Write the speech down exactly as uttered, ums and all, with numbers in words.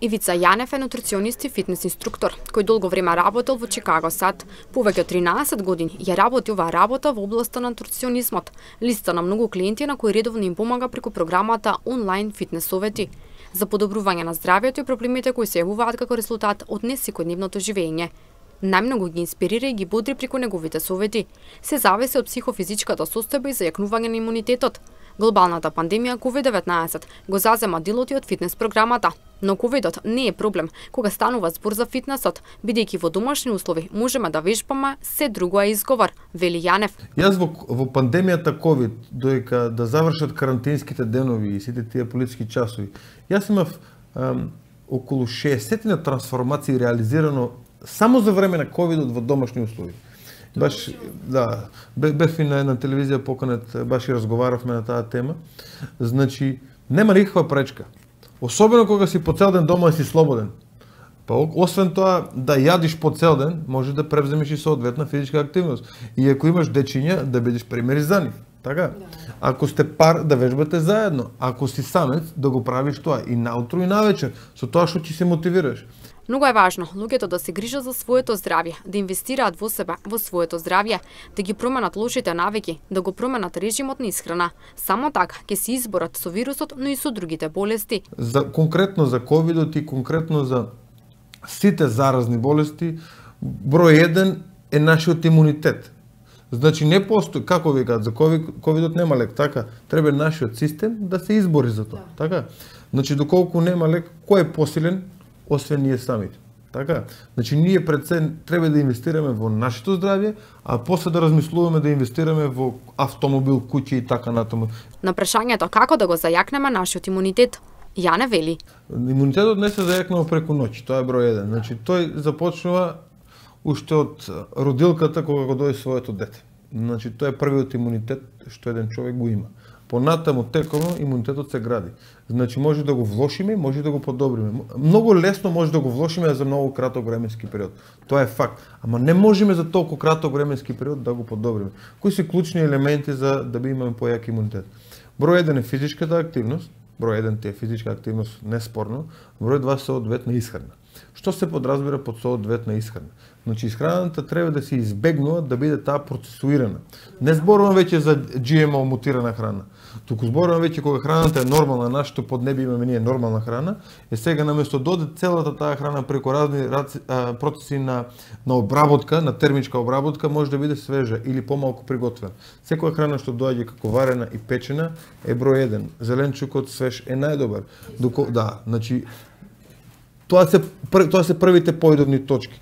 Ивица Јанев е нутриционист и фитнес инструктор, кој долго време работел во Чикаго САД. Повеќе од тринаесет години ја работи оваа работа во областа на нутриционизмот. Листа на многу клиенти на кои редовно им помага преку програмата онлайн фитнес совети за подобрување на здравјето и проблемите кои се јавуваат како резултат од несекојдневното живење. Најмногу ги инспирира и ги бодри преку неговите совети. Се зависи од психофизичката состојба и зајакнување на имунитетот. Глобалната пандемија ковид деветнаесет го зазема делот и од фитнес програмата, но ковидот не е проблем кога станува збор за фитнесот, бидејќи во домашни услови можеме да вежбаме, се друго е изговор, вели Јанев. Јас во, во пандемијата ковид, доека да завршат карантинските денови и сите тие политички часови, јас имав ам, околу шеесет на трансформации реализирано само за време на ковидот во домашни услови. Баш, да, бев и на една телевизија поканет, баш и разговаравме на таа тема. Значи, нема никаква пречка. Особено кога си по цел ден дома и си слободен. Па, освен тоа, да јадиш по цел ден, може да превземеш и соодветна физичка активност. И ако имаш дечиња, да бидеш примери за нив. Така? Ако сте пар, да вежбате заедно. Ако си самец, да го правиш тоа и наутро и навечер, со тоа што ќе се мотивираш. Многу е важно луѓето да се грижат за своето здравје, да инвестираат во себе, во своето здравје, да ги променат лошите навики, да го променат режимот на исхрана. Само така ќе се изборат со вирусот, но и со другите болести. За конкретно за ковидот и конкретно за сите заразни болести, број еден е нашиот имунитет. Значи не постои, како викаат, за ковидот нема лек, така? Треба нашиот систем да се избори за тоа, така? Значи доколку нема лек, кој е посилен? Освен ние самите. Така? Значи ние пред се треба да инвестираме во нашето здравје, а после да размислуваме да инвестираме во автомобил, куќа и така натаму. На прашањето како да го зајакнеме нашиот имунитет, Јане вели. Имунитетот не се зајакнува преку ноќ, тоа е број еден. Значи тој започнува уште од родилката кога го дојде своето дете. Значи тоа е првиот имунитет што еден човек го има. Понатаму тековно имунитетот се гради. Значи може да го влошиме, може да го подобриме. Многу лесно може да го влошиме за многу краток временски период. Тоа е факт. Ама не можеме за толку краток временски период да го подобриме. Кои се клучни елементи за да би имаме појак имунитет? Број еден е физичката активност, број еден е физичка активност неспорно, број два соодветна исхрана. Што се подразбира под соодветна исхрана? Значи исхраната треба да се избегнува да биде таа процесуирана. Не зборувам веќе за Джи Ем О мутирана храна. Туку зборувам веќе кога храната е нормална, нашето поднебие имаме ние нормална храна, е сега наместо доде целата таа храна преку разни процеси на на обработка, на термичка обработка, може да биде свежа или помалку приготвена. Секоја храна што доаѓа како варена и печена е број еден. Зеленчукот свеж е најдобар. Доко, да, значи тоа се тоа се првите поидовни точки.